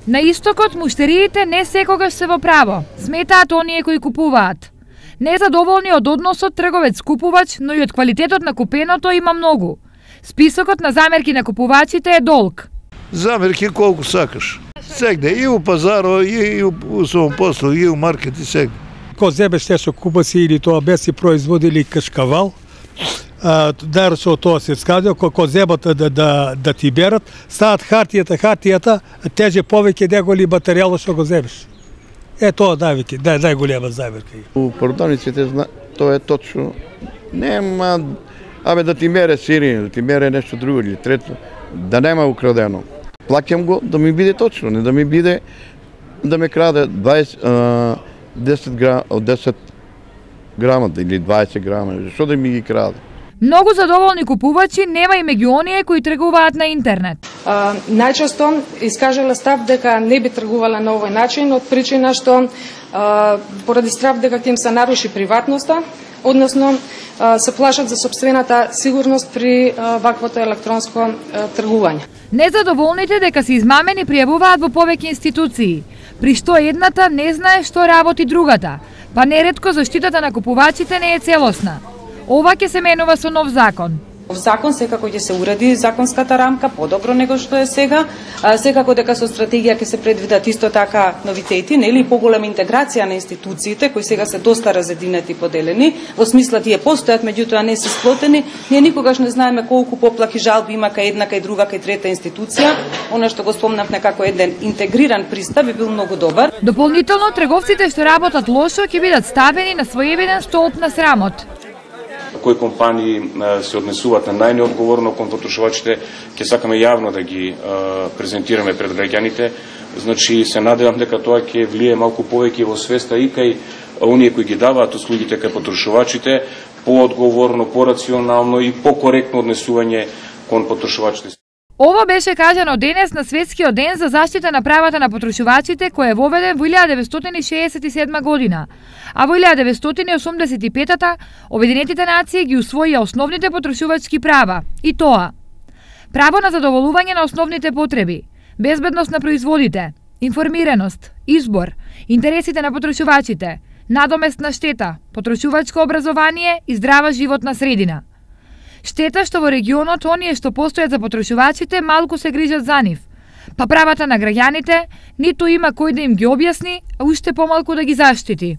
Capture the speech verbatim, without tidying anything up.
На истокот муштериите не секогаш се во право, сметаат оние кои купуваат. Незадоволни од односот трговец-купувач, но и од квалитетот на купеното има многу. Списокот на замерки на купувачите е долг. Замерки колку сакаш. Сегде и у пазаро, и у самопослуг, и у маркет, и сегде. Ко зебеш те што купаси или тоа без си производили кашкавал, да со тоа се скадил, ко зебата да, да, да ти берат, стават хартијата, хартијата, теже повеќе деголи материјалот што го зебеш. Е тоа највеќе, нај, најголема замерка. У продавниците тоа е точно. Нема, абе да ти мере сири, да ти мере нешто друго или трето, да нема украдено. Плаќам го да ми биде точно, не да ми биде да ме краде дваесет, десет грама, десет грама или дваесет грама, што да ми ги краде. Многу задоволни купувачи нема и меѓу оние кои тргуваат на интернет. А, најчесто искажала став дека не би тргувала на овој начин од причина што а, поради страв дека ќе им се наруши приватноста, односно а, се плашат за сопствената сигурност при а, ваквото електронско а, тргување. Незадоволните дека се измамени пријавуваат во повеќе институции, при што едната не знае што работи другата, па неретко заштитата на купувачите не е целосна. Ова ќе се менува со нов закон. Во закон секако ќе се уреди законската рамка подобро него што е сега, а, секако дека со стратегија ќе се предвидат исто така новитети, нели поголема интеграција на институциите кои сега се доста разединети и поделени, во смисла тие постојат, меѓутоа не се сплотени, ние никогаш не знаеме колку поплаки жалби има кај една, кај друга, кај трета институција. Она што го спомнав некако еден интегриран пристап би бил многу добар. Дополнително трговците што работат лошо ќе бидат ставени на своевиден столб на срамот. Кои компании се однесуваат на најнеодговорно кон потрошувачите, ќе сакаме јавно да ги презентираме пред граѓаните. Значи се надевам дека тоа ќе влие малку повеќе во свеста и кај оние кои ги даваат услугите кај потрошувачите, поодговорно, порационално и покоректно однесување кон потрошувачите. Ова беше кажано денес на Светскиот ден за заштита на правата на потрошувачите кој е воведен во илјада деветстотини шеесет и седма година, а во илјада деветстотини осумдесет и петата Обединетите нации ги усвоија основните потрошувачки права, и тоа: право на задоволување на основните потреби, безбедност на производите, информираност, избор, интересите на потрошувачите, надоместна штета, потрошувачко образование и здрава животна средина. Штета што во регионот оние што постојат за потрошувачите малку се грижат за нив, па правата на граѓаните ниту има кој да им ги објасни, а уште помалку да ги заштити.